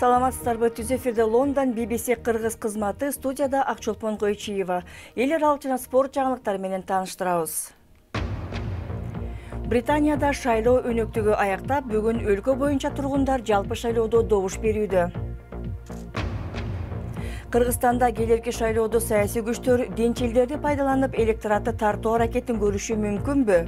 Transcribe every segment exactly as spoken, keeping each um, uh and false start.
Саламатсыздарбы, түз эфирде Лондон би би си кыргыз кызматы, студияда Акчолпон Койчиева. Эл аралык жана спорт жаңылыктары менен тааныштырабыз. Британияда шайлоо өнөктүгү аяктап, бүгүн өлкө боюнча тургундар жалпы шайлоодо добуш берүүдө. Кыргызстанда келерки шайлоодо саясий күчтөр динчилдерди пайдаланып электоратты тартуу аракетин көрүшү мүмкүнбү?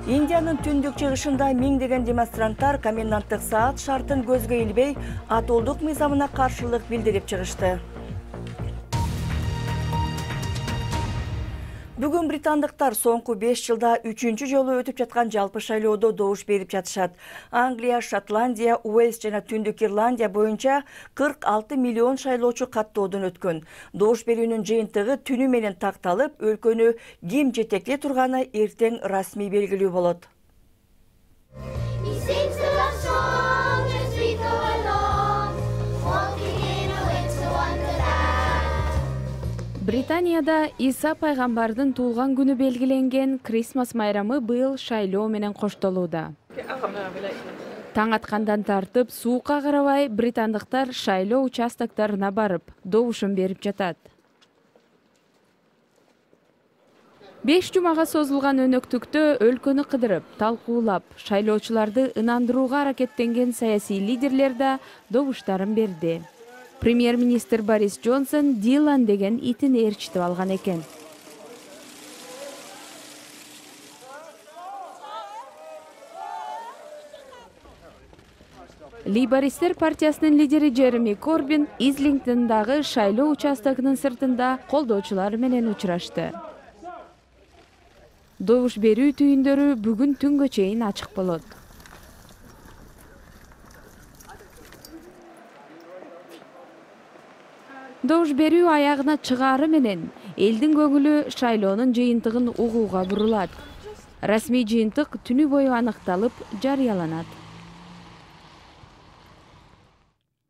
Индиянын түндүк чыгышында миңдеген демонстранттар коменданттык саат шартын көзгө илбей, атолдук мыйзамына каршылык билдирип чыгышты. Бүгүн британдыктар соңку беш жылда үчүнчү жолу өтүп жаткан жалпы шайлоодо добуш берип жатышат. Англия, Шотландия, Уэльс жана Түндүк Ирландия боюнча кырк алты миллион шайлоочу каттоодон өткөн. Добуш берүүнүн жыйынтыгы түнү менен такталып, өлкөнү ким жетектей турганы эртең расмий белгилүү болот. Британияда Иса пайгамбардын туулган күнү белгиленген Крисмас майрамы быйыл шайлоо менен коштолууда. Таң аткандан тартып, суукка карабай британдыктар шайлоо участокторуна барып, добушун берип жатат. Беш жумага созулган өнөктүктө өлкөнү кыдырып, талкуулап, шайлоочуларды ынандырууга аракеттенген саясий лидерлер да добуштарын берди. Премьер-министр Борис Джонсон Дилан деген итин ээрчитип алган экен. Лейбористер партиясынын лидери Джереми Корбин Излингтондагы шайлоо участогунун сыртында колдоочулары менен учурашты. Добуш берүү түйүндөрү бүгүн түнгө чейин ачык болот. Добуш берүү аягына чыгаары менен элдин көңүлү шайлоонун жыйынтыгын угууга бурулат. Расмий жыйынтык түнү бою аныкталып, жарыяланат.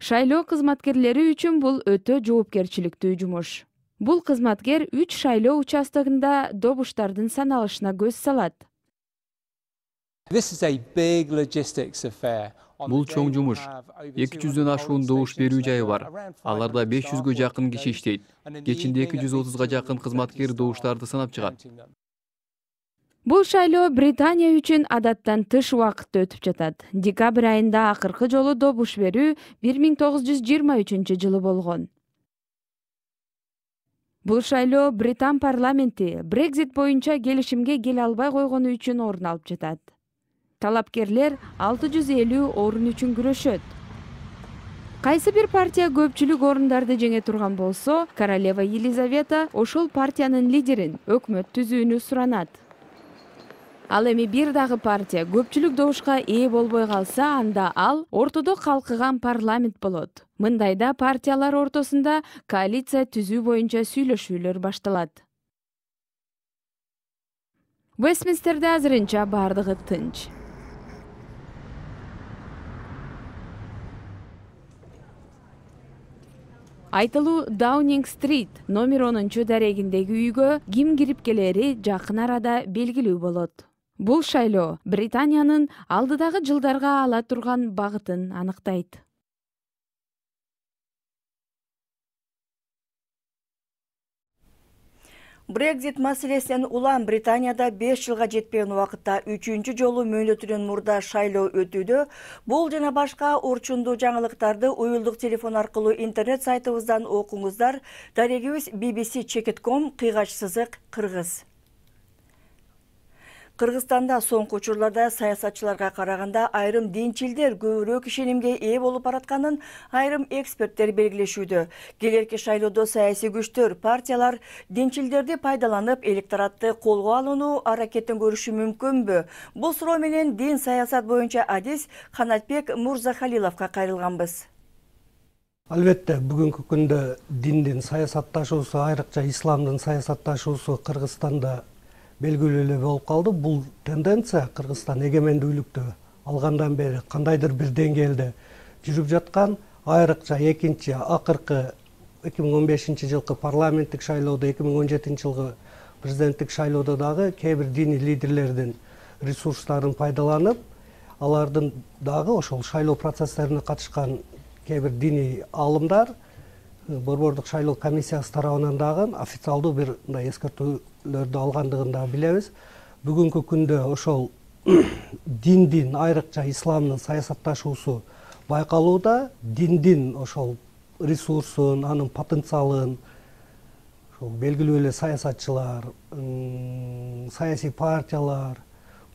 Шайлоо кызматкерлери үчүн бул өтө жоопкерчиликтүү жумуш. Бул кызматкер үч шайлоо участогунда добуштардын саналышына көз салат. Бул чоң жумуш. эки жүздөн ашуун добуш берүү жайы бар. Аларда беш жүзгө жакын киши иштейт. Кечинде эки жүз отузга жакын кызматкер добуштарды санап чыгат. Бул шайлоо Британия үчүн адаттан тыш убакытта өтүп жатат. Декабрь айында акыркы жолу добуш берүү бир миң тогуз жүз жыйырма үчүнчү жылы болгон. Бул шайлоо Британ парламенти Брекзит боюнча келишимге келе албай койгону үчүн орун алып жатат. Талапкерлер алты жүз элүү орун үчүн күрөшөт. Кайсы бир партия көпчүлүк орундарды жеңе турган болсо, королева Елизавета ошол партиянын лидерин өкмөт түзүүнү суранат. Ал эми бир дагы партия көпчүлүк добушка ээ болбой калса, анда ал ортодо калкыган парламент болот. Мындайда партиялар ортосунда коалиция түзүү боюнча сүйлөшүүлөр башталат. Вестминстерде азырынча бардыгы тынч. Айтылуу Даунинг-стрит номер онунчу дарегиндеги үйгө ким кирип келери жакын арада белгилүү болот. Бул шайлоо Британиянын алдыдагы жылдарга ала турган багытын аныктайт. Брекзит маселесинен улам Британияда беш жылга жетпеген убакытта үчүнчү жолу мөөнөтүнөн мурда шайлоо өтүүдө. Бул жана башка урчундуу жаңылыктарды уюлдук телефон аркылуу интернет сайтыбыздан окуңуздар. Дарегибиз би би си чекит точка ком кыйгач сызык кыргыз. Кыргызстанда соңку учурларда саясатчыларга караганда айрым динчилдер көбүрөөк ишенимге ээ болуп баратканын айрым эксперттер белгилешүүдө. Келерки шайлоодо саясий күчтөр, партиялар динчилдерди пайдаланып электоратты колго алууну аракетин көрүшү мүмкүнбү? Бул суроо менен дин саясат боюнча адис Канатбек Мурзахалиловго кайрылганбыз. Албетте, бүгүнкү күндө диндин саясатташуусу, айрыкча исламдын саясатташуусу Кыргызстанда белгилүү эле болуп калды. Бул тенденция Кыргызстан эгемендүүлүктү алгандан бери кандайдыр бир деңгээлде жүрүп жаткан. Айрыкча экинчи акыркы эки миң он бешинчи жылкы парламенттик шайлоодо, эки миң он жетинчи жылкы президенттик шайлоодо дагы кээ бир диний лидерлердин ресурстарын пайдаланып, алардын дагы ошол шайлоо процесстерине катышкан кээ бир диний аалымдар Борбордук шайлоо комиссиясы тарабынан дагы официалдуу бир мындай эскертүүлөрдү алгандыгын да билебиз. Бүгүнкү күндө ошол диндин, айрыкча исламдын саясатташуусу байкалууда. Диндин ошол ресурсун, анын потенциалын ошол белгилүү эле саясатчылар, саясий партиялар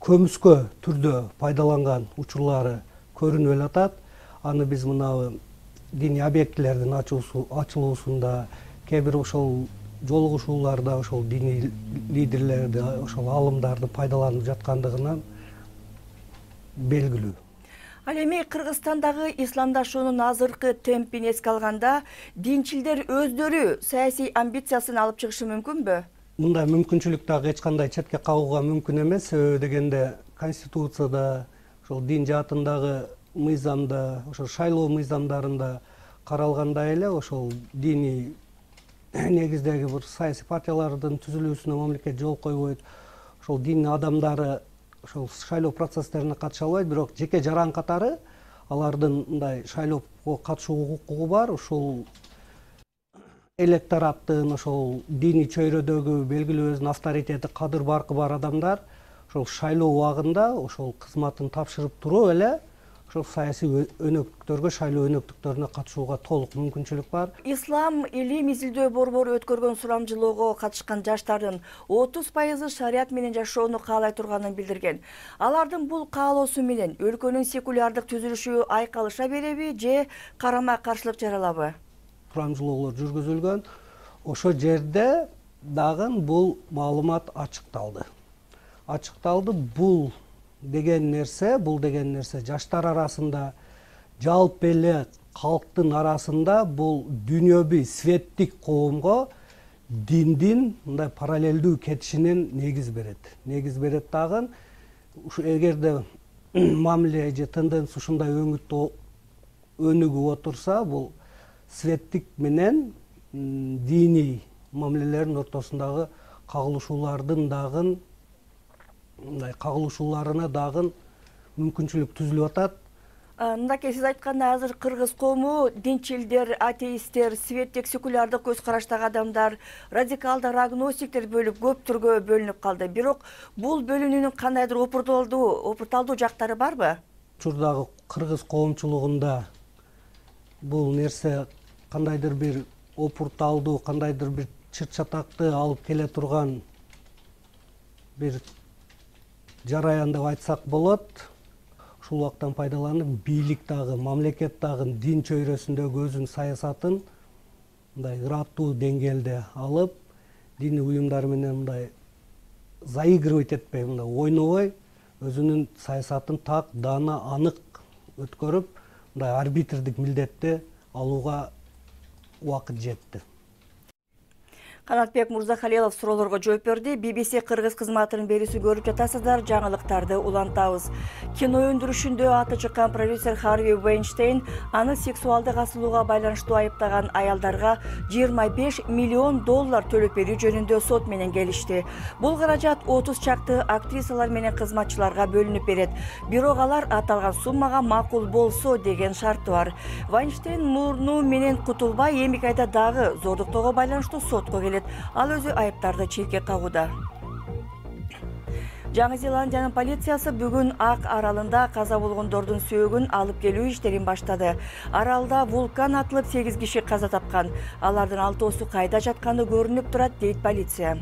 көмүскө түрдө пайдаланган учурлары көрүнүп эле атат. Аны биз мына диний объектилердин ачылуусунда, кээ бир ошол жолугушууларда ошол диний лидерлерди, ошол аалымдарды пайдаланып жаткандыгынан белгилүү. Ал эми Кыргызстандагы исламдашуунун азыркы темпин эске алганда, динчилдер өздөрү саясий амбициясын алып чыгышы мүмкүнбү? Мындай мүмкүнчүлүк дагы эч кандай четке кагууга мүмкүн эмес. Себеби дегенде Конституцияда, ошол дин жаатындагы мыйзамда, ошол шайлоо мыйзамдарында каралгандай эле ошол диний негиздеги бир саясий партиялардын түзүлүүсүнө мамлекет жол койбойт. Ошол дин адамдары ошол шайлоо процесстерине катыша албайт, бирок жеке жаран катары алардын мындай шайлоого катышуу укугу бар. Ошол электораттын, ошол диний чөйрөдөгү белгилүү өзүнүн авторитети, кадыр баркы бар адамдар ошол шайлоо убагында ошол кызматын тапшырып туруп эле ошол саясий өнөктүктөргө, шайлоо өнөктүктөрүнө катышууга толук мүмкүнчүлүк бар. Ислам илим изилдөө борбору өткөргөн сурамжылоого катышкан жаштардын отуз пайызы шарият менен жашоону каалай турганын билдирген. Алардын бул каалоосу менен өлкөнүн секулярдык түзүлүшү айкалыша береби же карама каршылык жаралабы? Сурамжылоолор жүргүзүлгөн. Ошол жерде дагы бул маалымат ачыкталды. Ачыкталды бул деген нерсе, бул деген нерсе жаштар арасында, жалпы эле калктын арасында бул дүйнөбүй светтик коомго диндин мындай параллелдүү кетишинин негиз берет. Негиз берет дагы. Ушу эгерде мамиле же тенденция ушундай өңүттө өнүгүп отурса, бул светтик менен диний мамилелердин ортосундагы кагылышуулардын дагы мындай кагылышууларына дагы мүмкүнчүлүк түзүлүп атат. Мындай сиз айткандай, азыр кыргыз коому динчилдер, атеисттер, светтик секулярдык көз караштагы адамдар, радикалдар, агностиктер бөлүп көп түргө бөлүнүп калды. Бирок бул бөлүнүүнүн кандайдыр опурталдуу, опурталдуу жактары барбы? Учурдагы кыргыз коомчулугунда бул нерсе кандайдыр бир опурталдуу, кандайдыр бир чыр-чатакты алып келе турган бир жараян деп айтсак болот. Ушул убактан пайдаланып, бийлик дагы, мамлекет дагы дин чөйрөсүндөгү өзүнүн саясатын мындай ыраттуу деңгээлде алып, диний уюмдар менен мындай заигрывать этпей, мындай ойнобой, өзүнүн саясатын так, даана, анык өткөрүп, мындай арбитрдик милдетти алууга убакыт жетти. Канатбек Мурзахалилов суроолорго жооп берди. би би си Кыргыз кызматынын берүүсү көрүп жатасыздар. Жаңылыктарды улантабыз. Кино өндүрүшүндө аты чыккан продюсер Харви Вайнштейн аны сексуалдык асылууга байланыштуу айыптаган аялдарга жыйырма беш миллион доллар төлөп берүү жөнүндө сот менен келишти. Бул каражат отуз чакты актрисалар менен кызматчыларга бөлүнүп берет. Бирок алар аталган суммага макул болсо деген шарты бар. Вайнштейн мурну менен кутулбай эми кайда дагы зордуктоого байланыштуу сотко келет. Ал өзү айыптарды четке кагууда. Жаңы Зеландиянын полициясы бүгүн Ак аралында каза болгондордун сөөгүн алып келүү иштерин баштады. Аралда вулкан атылып сегиз киши каза тапкан. Алардын алтоосу кайда жатканы көрүнүп турат, дейт полиция.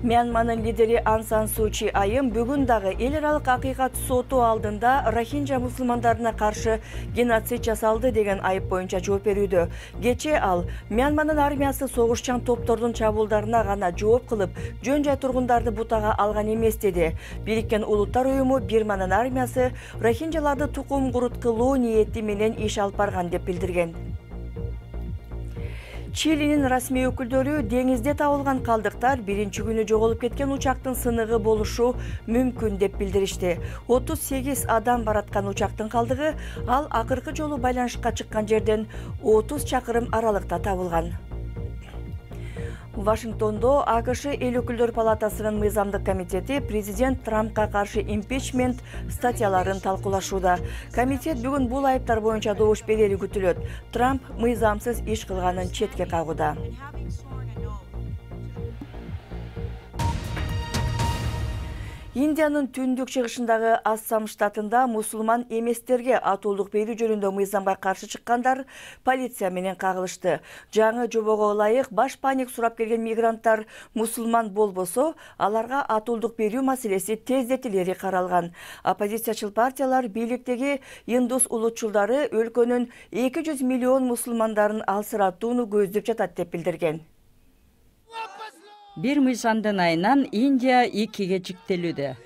Мьянманын лидери Ан Сан Су Чи айым бүгүн дагы эл аралык акыйкат соту алдында Рохинджа мусулмандарына каршы геноцид жасалды деген айып боюнча жооп берүүдө. Кечээ ал Мьянманын армиясы согушчан топтордун чабуулдарына гана жооп кылып, жөн жай тургундарды бутага алган эмес деди. Бириккен Улуттар уюму Бирманын армиясы рохинджаларды тукум куруткылоо ниети менен иш алып барган деп билдирген. Чилинин расмий өкүлдөрү деңизде табылган калдыктар биринчи күнү жоголуп кеткен учактын сыныгы болушу мүмкүн деп билдиришти. отуз сегиз адам бараткан учактын калдыгы ал акыркы жолу байланышка чыккан жерден отуз чакырым аралыкта табылган. Вашингтондо АКШ эл өкүлдөр палатасынын мыйзамдык комитети президент Трампка каршы импичмент статьяларын талкуулашууда. Комитет бүгүн бул айыптар боюнча добуш берери күтүлөт. Трамп мыйзамсыз иш кылганын четке кагууда. Индиянын түндүк чыгышындагы Ассам штатында мусулман эместерге атуулдук берүү жөнүндө мыйзамга каршы чыккандар полиция менен кагылышты. Жаңы жобого ылайык баш паник сурап келген мигранттар мусулман болбосо, аларга атуулдук берүү маселеси тездетилери каралган. Оппозициячыл партиялар бийликтеги индус улутчулдары өлкөнүн эки жүз миллион мусулмандарын алсыратууну көздөп жатат деп билдирген. Бир мыйзамдын айынан Индия экиге жиктелүүдө.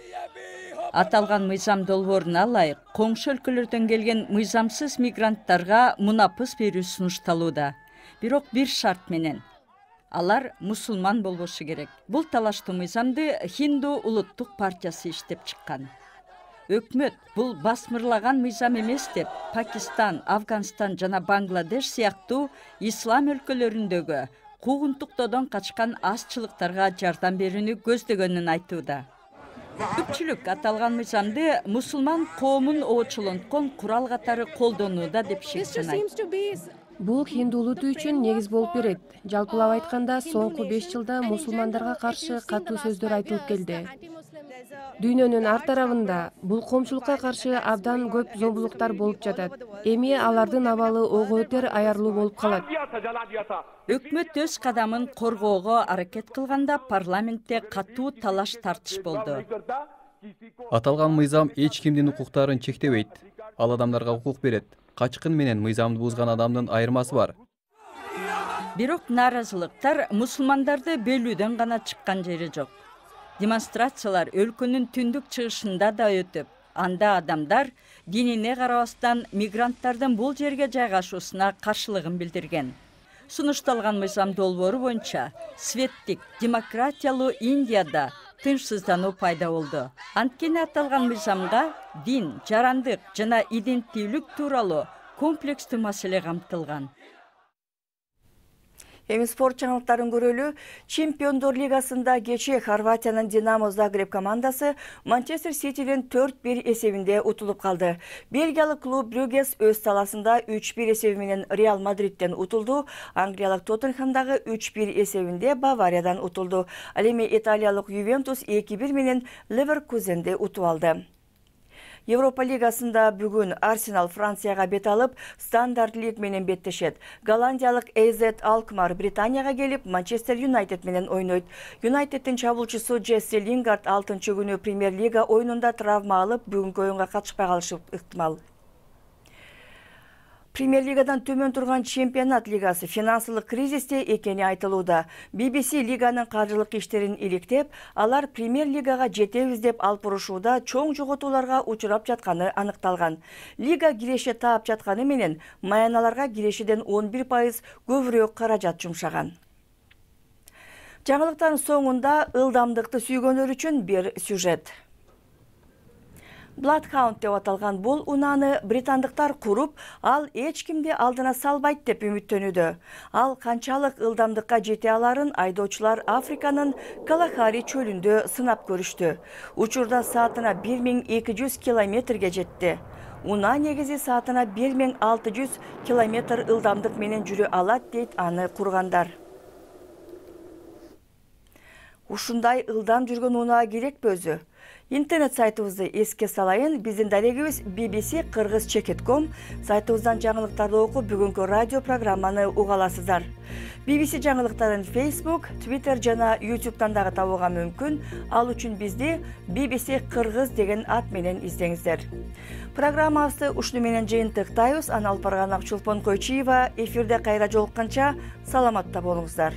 Аталган мыйзам долбооруна ылайык коңшу өлкөлөрдөн келген мыйзамсыз мигранттарга мунапыс берүү сунушталууда. Бирок бир шарт менен. Алар мусулман болбошу керек. Бул талаштуу мыйзамды Хинду улуттук партиясы иштеп чыккан. Өкмөт бул басмырлаган мыйзам эмес деп Пакистан, Афганистан жана Бангладеш сыяктуу ислам өлкөлөрүндөгү куугунтуктоодон качкан азчылыктарга жардам берүүнү көздөгөнүн айтууда. Көпчүлүк аталган мыйзамды мусулман коомун оочулонткон курал катары колдонууда деп шектенет. Бул хинду улуту үчүн негиз болуп берет. Жалпылап айтканда, соңку беш жылда мусулмандарга каршы катуу сөздөр айтылып келди. Дүйнөнүн ар тарабында бул коомчулукка каршы абдан көп зомбулуктар болуп жатат. Эми алардын абалы ого өтөр аярлуу болуп калат. Өкмөт өз кадамын коргоого аракет кылганда парламентте катуу талаш тартыш болду. Аталган мыйзам эч кимдин укуктарын чектебейт. Ал адамдарга укук берет. Качкын менен мыйзамды бузган адамдын айырмасы бар. Бирок нааразылыктар мусулмандарды бөлүүдөн гана чыккан жери жок. Демонстрациялар өлкөнүн түндүк чыгышында да өтүп, анда адамдар динине карабастан мигранттардын бул жерге жайгашуусуна каршылыгын билдирген. Сунушталган мыйзам долбоору боюнча светтик, демократиялуу Индияда тынчсыздануу пайда болду. Анткени аталган мыйзамга дин, жарандык жана иденттүүлүк тууралуу комплекстүү маселе камтылган. Эми спорт жаңылыктарын көрөлү. Чемпиондор лигасында кечээ Хорватиянын Динамо Загреб командасы Манчестер Ситиден төрт бир эсебинде утулуп калды. Бельгиялык клуб Брюгес өз таласында үч бир эсеби менен Реал Мадриттен утулду. Англиялык Тоттенхэмдагы үч бир эсебинде Бавариядан утулду. Ал эми италиялык Ювентус эки бир менен Леверкузенди утуп алды. Европа лигасында бүгүн Арсенал Францияга бет алып, Стандарт Лиг менен беттешет. Голландиялык эй зет Алкмар Британияга келип, Манчестер Юнайтед менен ойнойт. Юнайтеддин чабуучусу Джесси Лингард алтынчы күнү Премьер-лига оюнунда травма алып, бүгүнкү оюнга катышпай калышы ыктымал. Премьер-лигадан төмөн турган чемпионат лигасы финансылык кризисте экени айтылууда. би би си лиганын каржылык иштерин иликтеп, алар Премьер-лигага жетебиз деп алып урушууда чоң жоготууларга учурап жатканы аныкталган. Лига киреше таап жатканы менен маяналарга кирешеден он бир пайыз көбүрөөк каражат жумшаган. Жаңылыктардын соңунда ылдамдыкты сүйгөндөр үчүн бир сюжет. Bloodhound деп аталган бул унааны британдыктар куруп, ал эч кимди алдына салбайт деп үмүттөнүүдө. Ал канчалык ылдамдыкка жете аларын айдоочулар Африканын Калахари чөлүндө сынап көрүштү. Учурда саатына бир миң эки жүз километрге жетти. Унаа негизи саатына бир миң алты жүз километр ылдамдык менен жүрө алат дейт аны кургандар. Ушундай ылдам жүргөн унаа керекпи өзү? Интернет сайтыбызды эске салайын. Биздин дарегибиз би би си кыргыз чекит точка ком. Сайтыбыздан жаңылыктарды окуп, бүгүнкү радио программаны уга аласыздар. би би си жаңылыктарын Facebook, Twitter жана YouTube'дан дагы табууга мүмкүн. Ал үчүн бизди би би си кыргыз деген ат менен издеңиздер. Программабызды ушуну менен жыйынтыктайбыз. Аны алып барган Акчулпон Койчиева. Эфирде кайра жолукканча саламатта болуңуздар.